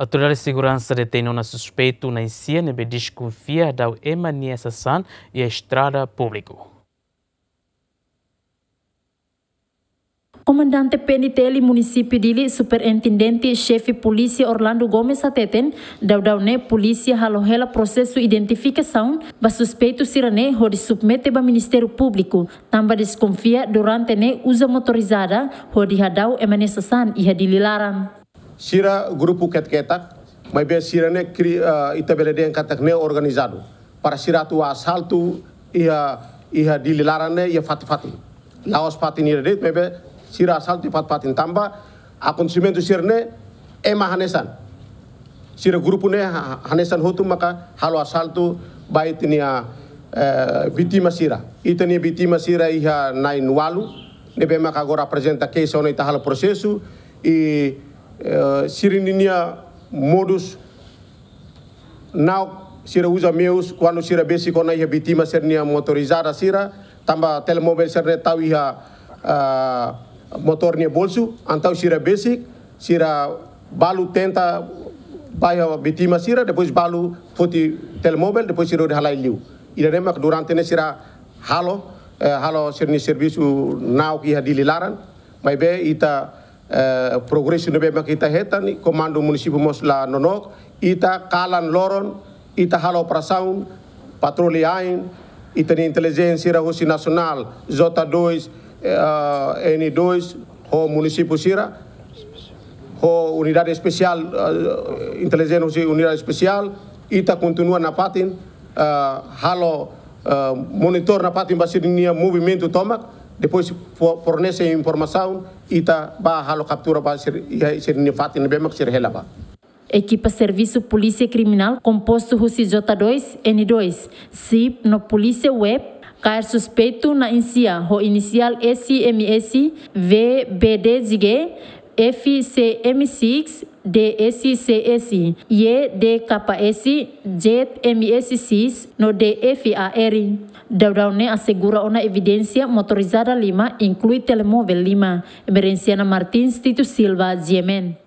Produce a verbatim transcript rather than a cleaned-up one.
Autoridade seguransa detein ona suspeitu na'in-sia ne'ebé deskonfia hadau ema nia sasán iha estrada públiku. Komandante P N T L Munisípiu Dili, Superintendente Xefe Polísia Orlando Gomes hateten, daudaun ne'e polísia halo hela prosesu identifikasaun ba suspeitu sira-ne'e hodi submete ba Ministériu Públiku, tanba deskonfia durante ne'e uza motorizada hodi hadau ema nia sasán iha Dili laran. Sira grupu ketak-ketak, maibé sira-ne'e kri-, eh, ita bele dehan katak ne'e organizadu. Para sira atu asaltu iha, iha Dili laran ne'e iha fatin-fatin. La'ós fatin ida de'it, maibé sira asaltu iha fatin-fatin tanba akontesimentu sira-ne'e ema hanesan. Sira grupu ne'e ha-, hanesan hotu maka halo asaltu ba ita-nia, eh, vítima sira. Ita-nia vítima sira iha na'in-ualu, ne'ebé maka agora aprezenta keixa ona ita halo prosesu, i, eh, sira-ninia modus na'ok sira uza meius kuandu sira besik ona iha vítima sira-nia motorizada sira, tanba telemovel sira-ne'e tau iha, ah, motór nia bolsu, entaun sira besik, sira balu tenta ba iha vítima sira, depois balu foti telemovel, depois sira hodi halai liu. Ida-ne'e mak durante ne'e sira halo, eh, halo sira-nia servisu na'ok iha Dili laran, maibé ita, eh, progresu ne'ebé mak ita hetan, i Komandu Munisípiu mós la nonook, ita kalan loron, ita halo operasaun, patroli ain, ita-nia intelijénsia sira husi nasionál, J dois, eh, N dois, ho munisípiu sira, ho unidade espesiál, eh, intelijénsia husi unidade espesiál, ita kontinua nafatin, eh, halo, eh, monitor nafatin ba sira-nia movimentu tomak, depois fo-, fornese informasaun, ita bá halo kaptura ba sira, iha sira-nia fatin ne'ebé mak sira hela ba. Ekipa Servisu Polísia Kriminál kompostu husi J dois, N dois, sip no Polísia Web, kaer suspeitu na'in-sia ho inisiál S M S, V B D G, F C M seis, D S C S, Y D K S, Z M S seis no D F A R. Daudaun ne'e asegura ona evidénsia motorizada lima, inklui telemovel lima. Emerenciana Martins, Tito Silva, G M N.